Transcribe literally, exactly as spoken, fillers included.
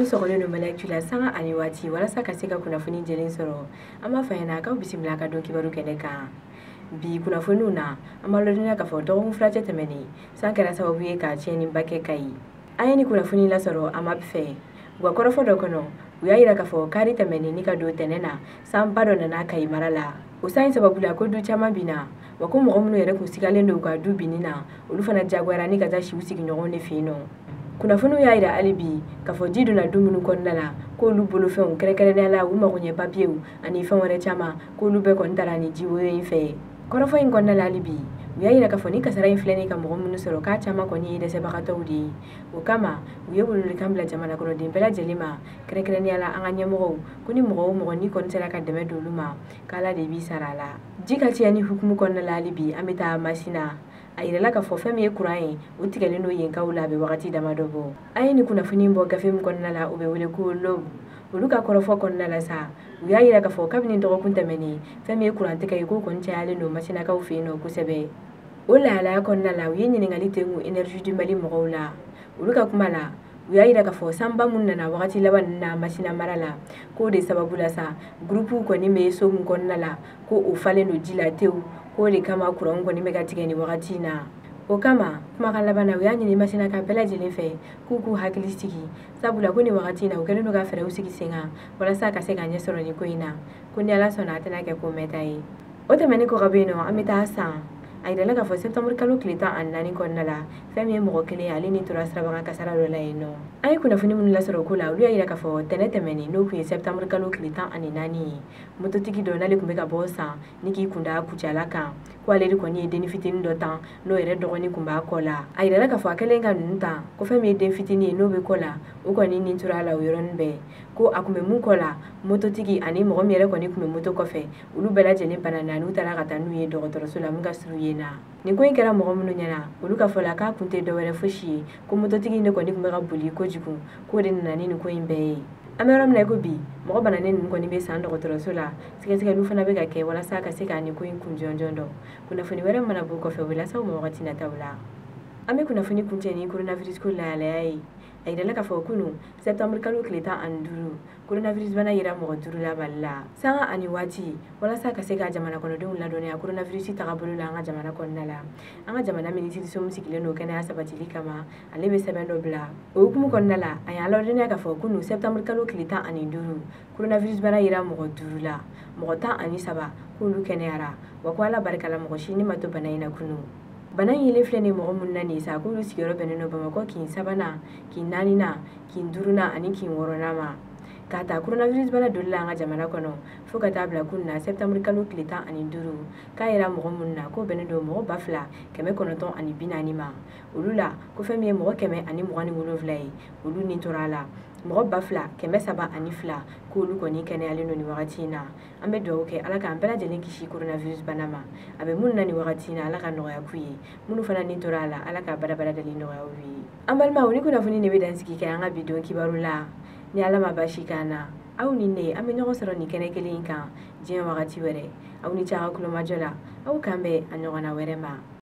Minnu sɔgɔlen don Mali Actu la sanga ani waati walasa ka se ka kunnafoni jɛlen sɔrɔ, an b'a fɔ ɲɛna k'aw bisimila ka don kibaru kɛnɛ kan. Bi kunnafoniw na, an b'a ladɔnniya k'a fɔ dɔgɔkun fila cɛ tɛmɛnen, san kɛra sababu ye ka tiɲɛniba kɛ Kayi. An ye nin kunnafoni lasɔrɔ A M A P fɛ. U ka kɔrɔfɔ dɔ kɔnɔ, u y'a yira k'a fɔ kari tɛmɛnen ni ka don tɛnɛ na, sanba dɔ nana Kayi mara la. O san in sababu la, ko du caman binna, wa ko mɔgɔ minnu yɛrɛ kun sigalen don u ka du binni na, olu fana jagoyara ni ka taa si u sigiɲɔgɔnw de fɛ yen nɔ. Kunnafoniw y'a yira hali bi k'a fɔ ji donna du minnu kɔnɔna la, k'olu bolofɛnw, kɛrɛnkɛrɛnnenya la u magoɲɛ papiyew ani fɛn wɛrɛ caman, k'olu bɛɛ kɔni taara ni jiwoyo in fɛ. Kɔrɔfɔ in kɔnɔna la hali bi, u y'a yira k'a fɔ ni kasara in filɛ nin ka mɔgɔ minnu sɔrɔ, k'a caman kɔni ye dɛsɛbagatɔw de ye. O kama, u ye welewelekan bila jamana kɔnɔden bɛɛ lajɛlen ma, kɛrɛnkɛrɛnnenya la an ka ɲɛmɔgɔw, ko ni mɔgɔ o mɔgɔ n'i kɔni sera ka dɛmɛ don olu ma, k'Ala de b'i sara a la. Ji ka tiɲɛni hukumu kɔnɔna la hali bi, an bɛ taa Masina. A yirala k'a fɔ fɛn min ye kuran ye, o tigɛlen don yenkaw la a bɛ wagati damadɔ bɔ. An ye nin kunnafoni bɔ gafe min kɔnɔna la, o bɛ wele ko L'Aube. Olu ka kɔrɔfɔ kɔnɔna la sa, u y'a yira k'a fɔ kabini dɔgɔkun tɛmɛnen, fɛn min ye kuran tigɛ ye, k'o kɔni cayalen don Masinakaw fɛ yen nɔ kosɛbɛ. O lahalaya kɔnɔna la, u ye ɲininkali tengu Énergie du Mali mɔgɔw la. Olu ka kuma la, u y'a yira k'a fɔ sanba mun nana wagati laban ninnu na Masina mara la, k'o de sababu la sa, groupe kɔni bɛ so min kɔnɔna la, ko o falen don ji la tewu, k'o de kama kuran kɔni bɛ ka tigɛ nin wagati in na. O kama, kumakan laban na, u y'a ɲini Masinaka bɛɛ lajɛlen fɛ k'u k'u hakili sigi, sabula ko nin wagati in na, u kɛlen don ka fɛɛrɛw sigi sen kan walasa ka se ka ɲɛ sɔrɔ nin ko in na, ko ni Ala sɔnna, a tɛna kɛ ko mɛnta ye. O tɛmɛnen kɔ ka bɔ yen nɔ, an bɛ taa San. A yirala k'a fɔ septembre kalo tile tan ani naani kɔnɔna la, fɛn min ye mɔgɔ kelen, ale ni tora sirabakan kasara dɔ la yen nɔ. An ye kunnafoni minnu lasɔrɔ o ko la, olu y'a yira k'a fɔ tɛnɛ tɛmɛnen, n'o tun ye septembre kalo tile tan ani naani ye, mototigi dɔ, n'ale tun bɛ ka bɔ San ni k'i kunda Kucala kan, ko ale de kɔni ye denni fitinin dɔ tan, n'o yɛrɛ dɔgɔnin tun b'a kɔ la. A yirala k'a fɔ a kɛlen ka ninnu tan, ko fɛn min ye den fitinin ye n'o bɛ kɔ la, o kɔni nin tora a la o yɔrɔnin bɛɛ. Ko a tun bɛ mun kɔ la, mototigi ani mɔgɔ min yɛrɛ kɔni tun bɛ moto kɔfɛ, olu bɛɛ lajɛlen banana, n'u taara ka taa n'u ye dɔgɔtɔrɔso la mun ka surun yen na. Nin ko in kɛra mɔgɔ minnu ɲɛna, olu ka fɔ la, k'a kun tɛ dɔwɛrɛ fosi ye, ko mototigi in de kɔni tun bɛ ka boli kojugu, k'o de nana ni nin ko in bɛɛ ye. An bɛ yɔrɔ min na i ko bi, mɔgɔ bananen ninnu kɔni bɛ San dɔgɔtɔrɔso la. Sɛgɛsɛgɛliw fana bɛ ka kɛ walasa ka se ka nin ko in kun jɔnjɔn dɔn. Kunnafoni wɛrɛ mana bɔ kɔfɛ, u bɛ lase aw ma wagati nataw la. An bɛ kunnafoni kuncɛ ni coronavirus ko lahalaya ye. A yirala k'a fɔ kunun septembre kalo tile tan ani duuru, coronavirus bana yera mɔgɔ duuru la Mali la. Sanga ani waati, walasa ka se ka jamana kɔnɔdenw ladɔnniya coronavirus tagabolo la an ka jamana kɔnɔna la, an ka jamana minisiriso min sigilen don kɛnɛya sabatili kama, ale bɛ sɛbɛn dɔ bila. O hukumu kɔnɔna la, a y'an ladɔnniya k'a fɔ kunun septembre kalo tile tan ani duuru, coronavirus bana yera mɔgɔ duuru la. Mɔgɔ tan ani saba, k'olu kɛnɛyara, wa ko Ala barika la, mɔgɔ si ni ma to bana in na kunun. Bana in yelen filɛ nin mɔgɔ minnu na nin sa, k'olu sigiyɔrɔ bɛnnen don Bamakɔ kin sabanan, kin naaninan, kin duurunan ani kin wɔɔrɔnan ma. K'a ta coronavirus bana doli la an ka jamana kɔnɔ fo ka taa bila kunun na septembre kalo tile tan ani duuru, k'a yera mɔgɔ minnu na, k'o bɛnnen don mɔgɔ ba fila kɛmɛ kɔnɔntɔn ani bi naani ma. Olu la, ko fɛn min ye mɔgɔ kɛmɛ ani mugan ni wolonwula ye, olu ni tora a la. Mɔgɔ ba fila kɛmɛ saba ani fila, k'olu kɔni kɛnɛyalen don nin wagati in na. An bɛ dugawu kɛ, Ala k'an bɛɛ lajɛlen kisi coronavirus bana ma. A bɛ minnu na nin wagati in na, Ala ka nɔgɔya k'u ye. Minnu fana ni tora a la, Ala ka badabada dali nɔgɔya u ye. An balimaw, ni kunnafoni de bɛ dansigi kɛ an ka bi don kibaru la. Ni Ala ma basi k'an na, aw ni ne, an bɛ ɲɔgɔn sɔrɔ nin kɛnɛ kelen in kan diɲɛ wagati wɛrɛ. Aw ni ce a ka kulomajɔ la. Aw kan bɛn a ɲɔgɔnna wɛrɛ ma.